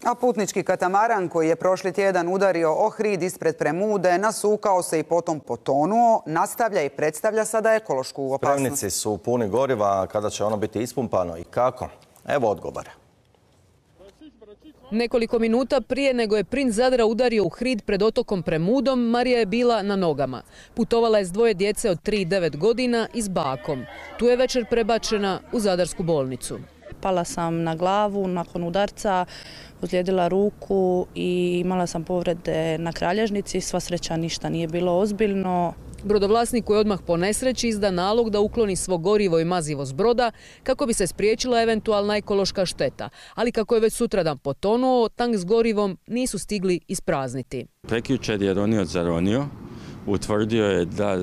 A putnički katamaran koji je prošli tjedan udario Ohrid ispred Premude, nasukao se i potom potonuo, nastavlja i predstavlja sada ekološku opasnost. Spremnici su puni goriva, kada će ono biti ispumpano i kako? Evo odgovora. Nekoliko minuta prije nego je princ Zadra udario u Hrid pred otokom Premudom, Marija je bila na nogama. Putovala je s dvoje djece od 3 i 9 godina i s bakom. Tu je večer prebačena u zadarsku bolnicu. Pala sam na glavu nakon udarca, ozlijedila ruku i imala sam povrede na kralježnici. Sva sreća ništa nije bilo ozbiljno. Brodovlasniku je odmah po nesreći izdan nalog da ukloni svo gorivo i mazivo s broda kako bi se spriječila eventualna ekološka šteta. Ali kako je već sutradan potonuo, tank s gorivom nisu stigli isprazniti. Prekjučer je ronioc zaronio, utvrdio je da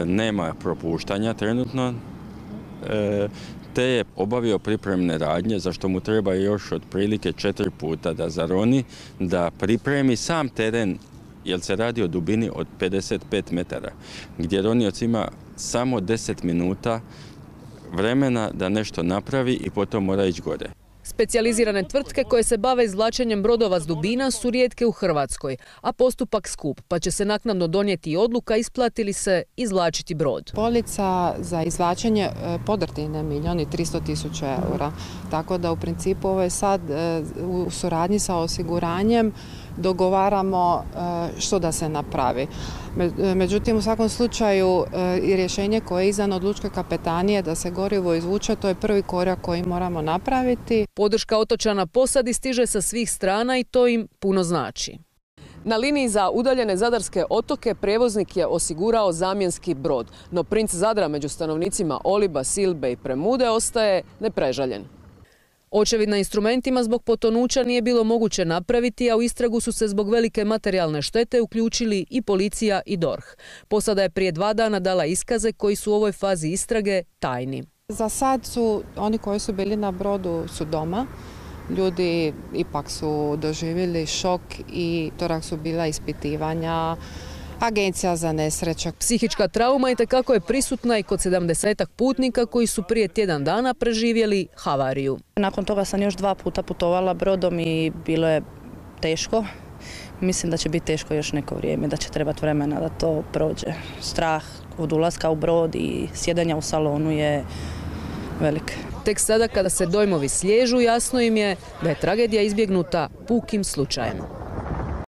nema propuštanja trenutno, te je obavio pripremne radnje, za što mu treba još otprilike 4 puta da zaroni, da pripremi sam teren, jer se radi o dubini od 55 metara, gdje ronioc ima samo 10 minuta vremena da nešto napravi i potom mora ići gore. Specijalizirane tvrtke koje se bave izvlačenjem brodova s dubina su rijetke u Hrvatskoj, a postupak skup, pa će se naknadno donijeti odluka isplati li se izvlačiti brod. Polica za izvlačenje podrtine 1.300.000 eura, tako da u principu ovo je sad u suradnji sa osiguranjem dogovaramo što da se napravi. Međutim, u svakom slučaju i rješenje koje je izdano od lučke kapetanije da se gorivo izvuče, to je prvi korak koji moramo napraviti. Podrška otočana posadi stiže sa svih strana i to im puno znači. Na liniji za udaljene zadarske otoke prijevoznik je osigurao zamjenski brod, no princ Zadra među stanovnicima Oliba, Silbe i Premude ostaje neprežaljen. Očevid na instrumentima zbog potonuća nije bilo moguće napraviti, a u istragu su se zbog velike materijalne štete uključili i policija i DORH. Posada je prije 2 dana dala iskaze koji su u ovoj fazi istrage tajni. Za sad su oni koji su bili na brodu su doma. Ljudi ipak su doživjeli šok i torak su bila ispitivanja, Agencija za nesreće. Psihička trauma itekako je prisutna i kod 70-ak putnika koji su prije tjedan dana preživjeli havariju. Nakon toga sam još 2 puta putovala brodom i bilo je teško. Mislim da će biti teško još neko vrijeme, da će trebati vremena da to prođe. Strah od ulaska u brod i sjedanja u salonu je velik. Tek sada kada se dojmovi sliježu, jasno im je da je tragedija izbjegnuta pukim slučajem.